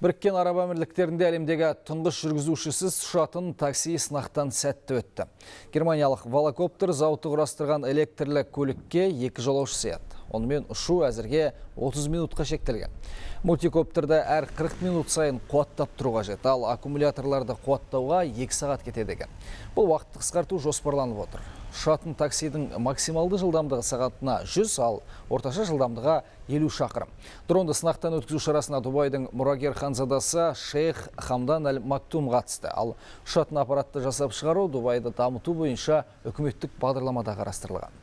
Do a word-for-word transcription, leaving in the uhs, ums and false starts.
Біріккен Араб Әмірліктерінде әлемдегі тұңғыш жүргізушісіз ұшатын такси сынақтан сәтті өтті. Германиялық волокоптер зауыты құрастырған электрлі көлікке екі жолаушы сыяды. Онымен ұшу әзірге отыз минутқа шектелген. Мультикоптерді әр қырық минут сайын қуаттап тұру қажет, ал аккумуляторларды қуаттауға екі сағат кетеді екен. Бұл уақытты қысқарту жоспарланып отыр. Ұшатын таксидің максималды жылдамдығы сағатына жүз, ал орташа жылдамдығы елу шақырым. Дронды сынақтан өткізу шарасына Дубайдың мұрагер ханзадасы Шейх Хамдан Әл Мактум қатысты. Ал ұшатын аппаратты жасап шығару Дубайды дамыту бойынша үкіметтік бағдарламада қарастырылған.